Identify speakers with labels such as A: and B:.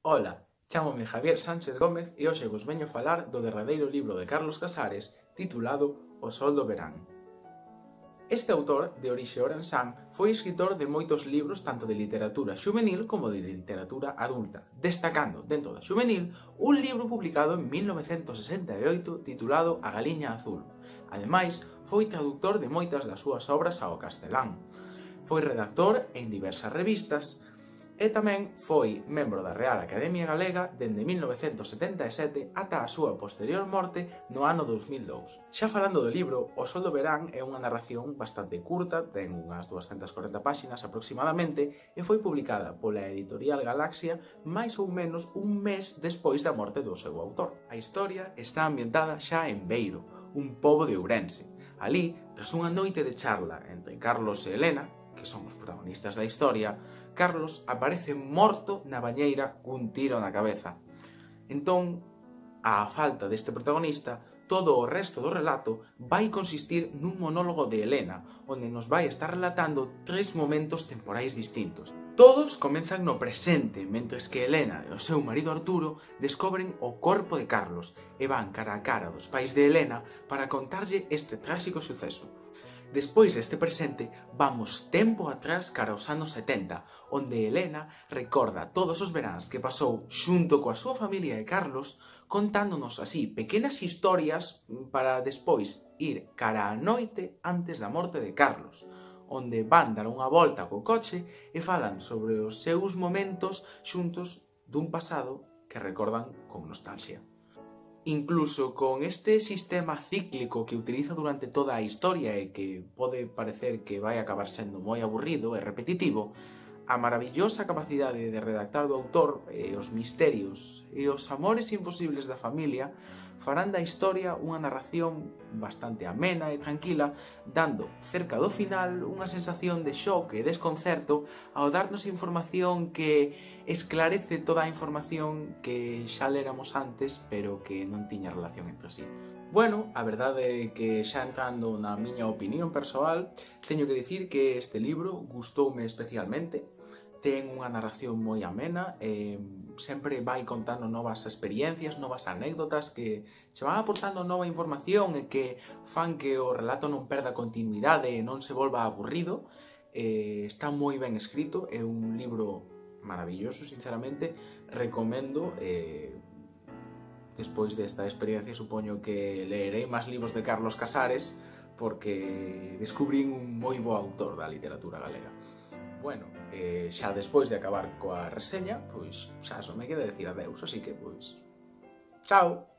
A: Ola, chámome Javier Sánchez Gómez e hoxe vos veño falar do derradeiro libro de Carlos Casares titulado O sol do verán. Este autor, de orixe orensán, foi escritor de moitos libros tanto de literatura xuvenil como de literatura adulta, destacando, dentro da xuvenil, un libro publicado en 1968 titulado A Galiña Azul. Ademais, foi traductor de moitas das súas obras ao castelán. Foi redactor en diversas revistas, e tamén foi membro da Real Academia Galega dende 1977 ata a súa posterior morte no ano 2002. Xa falando do libro, O sol do verán é unha narración bastante curta, ten unhas 240 páxinas aproximadamente e foi publicada pola editorial Galaxia máis ou menos un mes despois da morte do seu autor. A historia está ambientada xa en Beiro, un pobo de Ourense. Alí, tras unha noite de charla entre Carlos e Helena, que son os protagonistas da historia, Carlos aparece morto na bañeira cun tiro na cabeza. Entón, á falta deste protagonista, todo o resto do relato vai consistir nun monólogo de Helena, onde nos vai estar relatando tres momentos temporais distintos. Todos comenzan no presente, mentres que Helena e o seu marido Arturo descobren o corpo de Carlos e van cara a cara dos pais de Helena para contarlle este tráxico suceso. Despois deste presente, vamos tempo atrás cara aos anos 70, onde Helena recorda todos os veráns que pasou xunto coa súa familia e Carlos, contándonos así pequenas historias para despois ir cara á noite antes da morte de Carlos, onde van dar unha volta co coche e falan sobre os seus momentos xuntos dun pasado que recordan con nostalgia. Incluso con este sistema cíclico que utiliza durante toda a historia e que pode parecer que vai acabar sendo moi aburrido e repetitivo, a maravillosa capacidade de redactar do autor e os misterios e os amores imposibles da familia farán da historia unha narración bastante amena e tranquila, dando, cerca do final, unha sensación de shock e desconcerto ao darnos información que esclarece toda a información que xa léramos antes, pero que non tiña relación entre sí. Bueno, a verdade é que xa entrando na miña opinión persoal, teño que dicir que este libro gustoume especialmente. Ten unha narración moi amena e sempre vai contando novas experiencias, novas anécdotas que che van aportando nova información e que fan que o relato non perda continuidade e non se volva aburrido. Está moi ben escrito, é un libro maravilloso, sinceramente, recomendo. Despois desta experiencia supoño que leerei máis libros de Carlos Casares porque descubrín un moi bo autor da literatura galega. Bueno, xa despois de acabar coa reseña, pois xa só me queda decir adeus, así que pois... Chao!